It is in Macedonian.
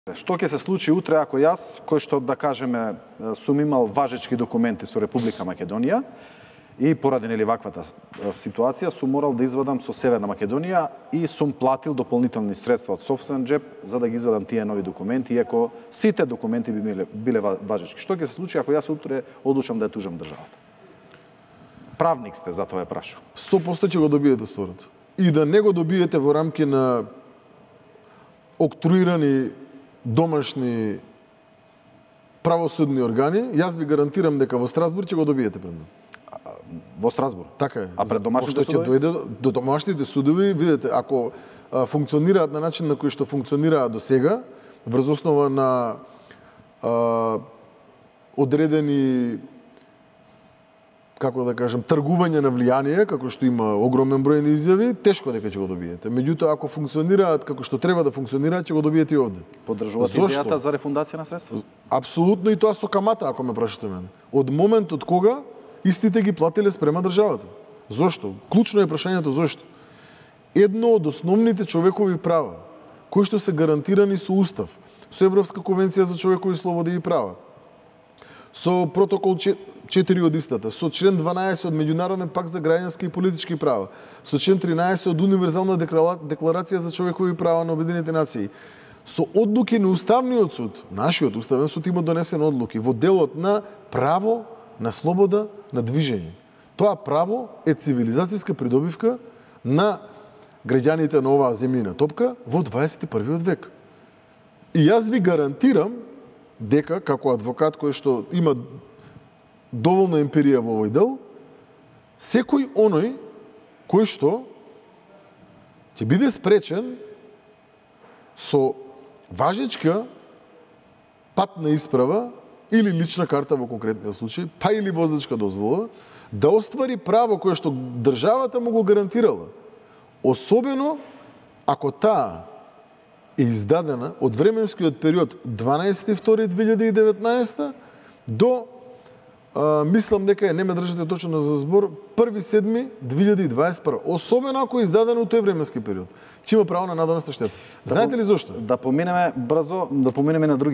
Што ќе се случи утре ако јас, кој што да кажеме сум имал важечки документи со Република Македонија и поради нели ваквата ситуација сум морал да извадам со Северна Македонија и сум платил дополнителни средства од сопствен джеп за да ги извадам тие нови документи, иако сите документи би биле важечки. Што ќе се случи ако јас утре одлучам да ја тужам државата? Правник сте, затоа ја прашувам. 100% ќе го добиете спорот. И да не го добиете во рамки на октруирани домашни правосудни органи, јас ви гарантирам дека во Страсбург ќе го добиете пред мене. Во Страсбург? Така е. А пред домашните судови? Ќе дојде до домашните судови, видете, ако функционираат на начин на кој што функционираат до сега, врз основа на одредени, како да кажем, тргување на влијание, како што има огромен број на изјави, тешко дека ќе го добиете. Меѓутоа, ако функционираат како што треба да функционираат, ќе го добиете и овде. Поддржувате идејата за рефундација на средства? Апсолутно, и тоа со камата, ако ме прашате мене. Од моментот кога истите ги платиле спрема државата. Зошто? Клучно е прашањето зошто. Едно од основните човекови права, кои што се гарантирани со Устав, со Европска конвенција за човекови слободи и права, со протокол 4 од истата, со член 12 од Меѓународен пакт за граѓански и политички права, со член 13 од Универзална декларација за човекови права на Обединетите нации, со одлуки на Уставниот суд, нашиот Уставен суд има донесени одлуки во делот на право на слобода на движење. Тоа право е цивилизацијска придобивка на граѓаните на оваа земјина топка во 21 век. И јас ви гарантирам дека, како адвокат кој што има доволна емпирија во овој дел, секој оној кој што ќе биде спречен со важечка патна исправа или лична карта во конкретниот случај, па или возачка дозвола, да оствари право кое што државата му го гарантирала. Особено ако таа е издадена од временскиот период 12.2.2019 до мислам дека не ме држите точно за збор 1.7.2021. Особено ако е издадено тој временски период. Ќе има право на надоместна штета. Знаете ли зошто? Да поминеме брзо, да поминеме на други